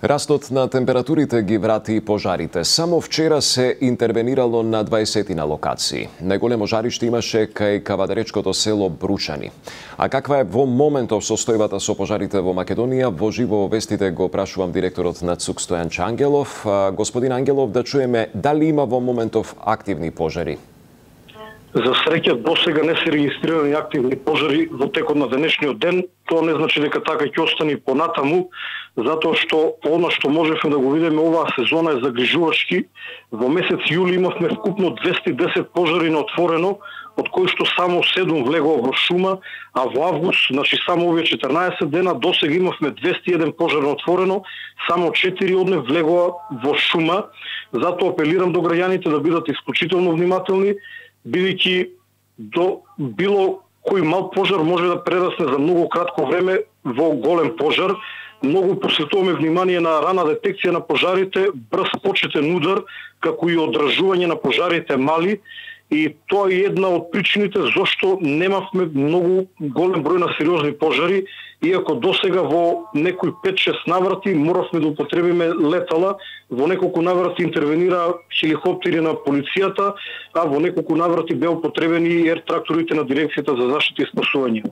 Растот на температурите ги врати пожарите. Само вчера се интервенирало на 20 на локации. Најголемо жариште имаше кај кавадаречкото село Бручани. А каква е во моментов состојбата со пожарите во Македонија? Во живо вестите го прашувам директорот на ЦУК Стојан Ангелов. Господин Ангелов, да чуеме дали има во моментов активни пожари? За среќа досега не се регистрирани активни пожари во текот на денешниот ден. Тоа не значи дека така ќе остане понатаму, затоа што она што можевме да го видиме оваа сезона е загрижувачки. Во месец јули имавме вкупно 210 пожари на отворено, од кои што само 7 влегоа во шума, а во август, значи само овие 14 дена, досега имавме 201 пожар на отворено, само 4 од нив влегоа во шума. Затоа апелирам до граѓаните да бидат исклучително внимателни, бидејќи до било кој мал пожар може да прерасне за многу кратко време во голем пожар. Многу посветуваме внимание на рана детекција на пожарите, брз почетен удар, како и одражување на пожарите мали. И тоа е една од причините зошто немавме многу голем број на сериозни пожари, иако досега во некои 5-6 наврати моравме да употребиме летала, во неколку наврати интервенира хеликоптери на полицијата, а во неколку наврати беа употребени ер тракторите на дирекцијата за заштита и спасување.